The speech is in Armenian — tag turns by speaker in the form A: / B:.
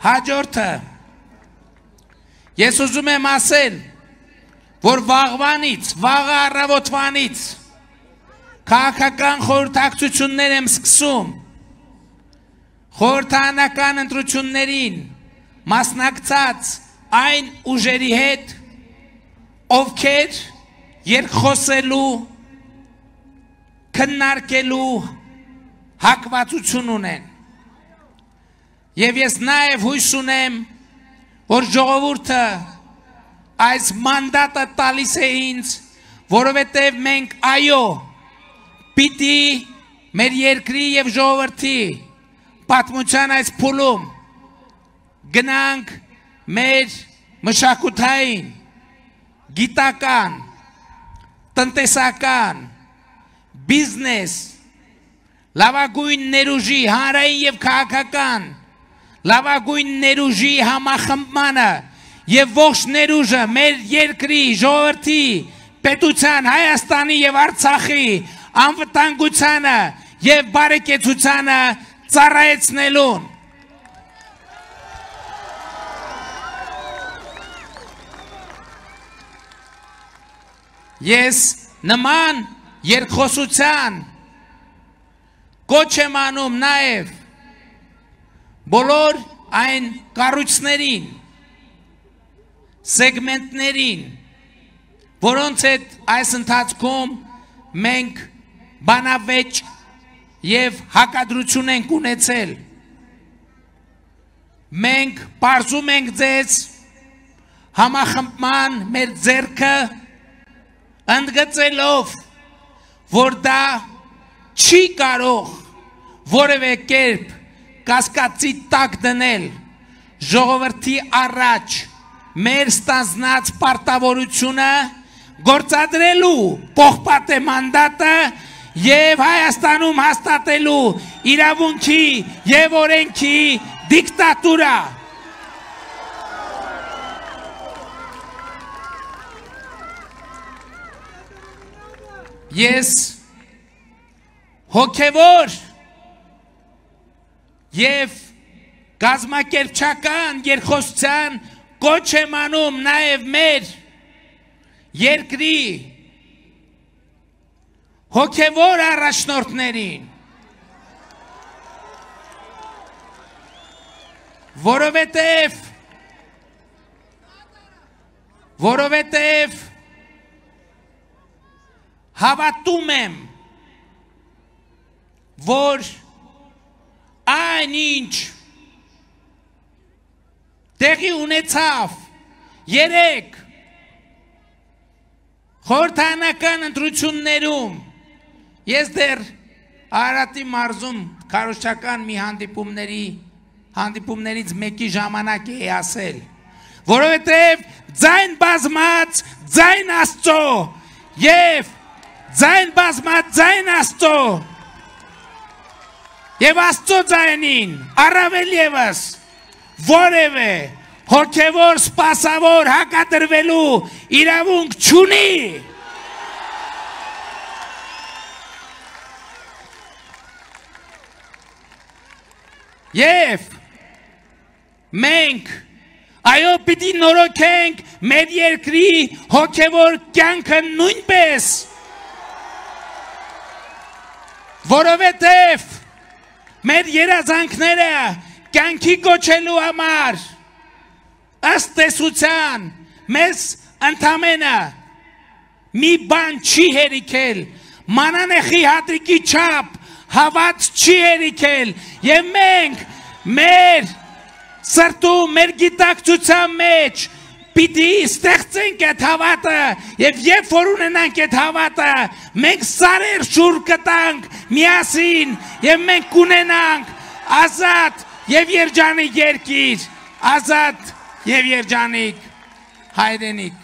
A: Հաջորդը ես ուզում եմ ասել, որ վաղվանից, վաղ առավոտվանից քաղաքական խորհրդակցություններ եմ սկսում խորհրդարանական ընտրություններին մասնակցած այն ուժերի հետ, ովքեր երկխոսելու, քննարկելու հակվածություն ունեն։ Եվ ես նաև հույս ունեմ, որ ժողովուրդը այս մանդատը տալիս է ինձ, որովհետև մենք այո, պիտի մեր երկրի և ժողովրդի պատմության այս փուլում գնանք մեր մշակութային, գիտական, տնտեսական, բիզնես, լավագույն ներուժի, հանրային և քաղաքական, լավագույն ներուժի համախմբմանը և ողջ ներուժը մեր երկրի, ժողովրդի, պետության, Հայաստանի և Արցախի անվտանգությանը և բարեկեցությանը ծառայեցնելուն։ Ես նման երկխոսության կոչ եմ անում նաև բոլոր այն կառույցներին, սեգմենտներին, որոնց հետ այս ընթացքում մենք բանավեճ և հակադրություն ենք ունեցել։ Մենք պարզում ենք ձեզ համախմբման մեր ձեռքը ընդգծելով, որ դա չի կարող որևէ կերպ կասկածի տակ դնել ժողովրդի առաջ մեր ստանձնած պարտավորությունը գործադրելու պողպատե մանդատը և Հայաստանում հաստատելու իրավունքի և օրենքի դիկտատուրա։ Ես հոգևոր և կազմակերպչական երկխոսության կոչ եմ անում նաև մեր երկրի հոգևոր առաջնորդներին, որովհետև հավատում եմ, որ այն ինչ տեղի ունեցավ երեկ խորհրդարանական ընտրություններում, ես դեռ Արարատի մարզում քարոզչական մի հանդիպումներից մեկի ժամանակ էի ասել, որովհետև ձայն բազմած ձայն Աստծո և ձայն բազմած ձայն Աստծո և Աստծո ձայնին առավել ևս որևէ հոգևոր սպասավոր հակադրվելու իրավունք չունի։ Եվ մենք այո պիտի նորոգենք մեր երկրի հոգևոր կյանքը նույնպես, որովհետև մեր երազանքները կյանքի կոչելու համար ըստ տեսության մեզ ընդամենը մի բան չի հերիքել, մանանեխի հատրիկի չափ հավատ չի հերիքել և մենք մեր սրտում, մեր գիտակցության մեջ պիտի ստեղծենք այդ հավատը և երբ որ ունենանք այդ հավատը, մենք սարեր շուռ կտանք միասին և մենք կունենանք ազատ և երջանիկ երկիր, ազատ և երջանիկ հայրենիք։